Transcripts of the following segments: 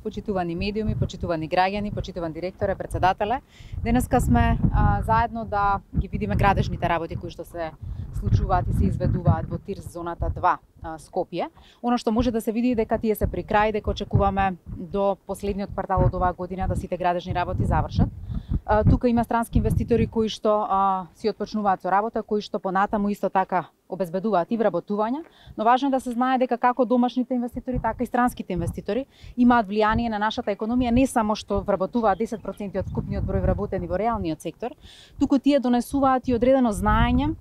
почитувани медиуми, почитувани граѓани, почитуван директоре, председателе. Денеска сме заедно да ги видиме градежните работи кои што се случуваат и се изведуваат во ТИРС зоната 2 Скопје. Оно што може да се види дека тие се при крај, дека очекуваме до последниот квартал од оваа година да сите градежни работи завршат. Тука има странски инвеститори кои што си отпочнуваат со работа, кои што понатаму исто така обезбедуваат и вработување, но важно е да се знае дека како домашните инвеститори, така и странските инвеститори имаат влијание на нашата економија, не само што вработуваат 10% од вкупниот број вработени во реалниот сектор, туку тие донесуваат и одредено знаење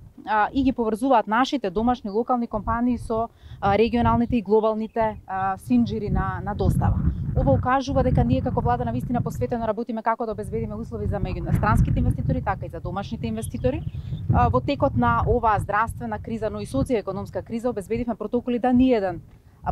и ги поврзуваат нашите домашни локални компании со регионалните и глобалните синџири на достава. Ова укажува дека ние како влада навистина посветено работиме како да обезбедиме услови за странските инвеститори, така и за домашните инвеститори. Во текот на оваа здравствена криза, но и социјоекономска криза, обезбедивме протоколи да ниеден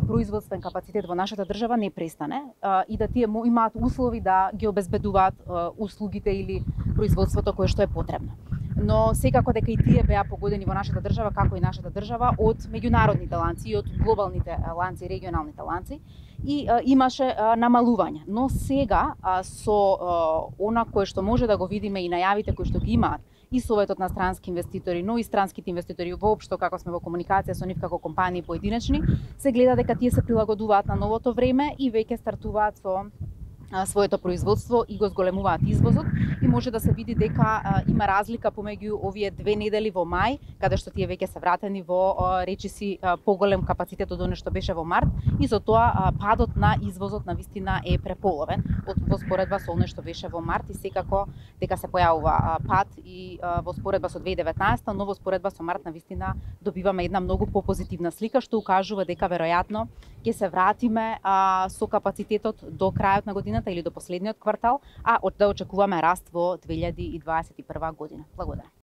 производствен капацитет во нашата држава не престане и да тие имаат услови да ги обезбедуваат услугите или производството кое што е потребно. Но секако дека и тие беа погодени во нашата држава, како и нашата држава, од меѓународните ланци и од глобалните ланци, регионалните ланци, и имаше намалување. Но сега со она кое што може да го видиме и најавите кои што ги имаат и Советот на странски инвеститори, но и странските инвеститори воопшто како сме во комуникација со нив како компании поединечни, се гледа дека тие се прилагодуваат на новото време и веќе стартуваат со своето производство и го зголемуваат извозот, и може да се види дека има разлика помеѓу овие 2 недели во мај, каде што тие веќе се вратени во речиси поголем капацитет од оно што беше во март, и со тоа падот на извозот навистина е преполовен во споредба со оно што беше во март, и секако дека се појавува пад и во споредба со 2019, но во споредба со март навистина добиваме една многу попозитивна слика што укажува дека веројатно ќе се вратиме со капацитетот до крајот на годината или до последниот квартал, а да очекуваме раст во 2021 година. Благодарам.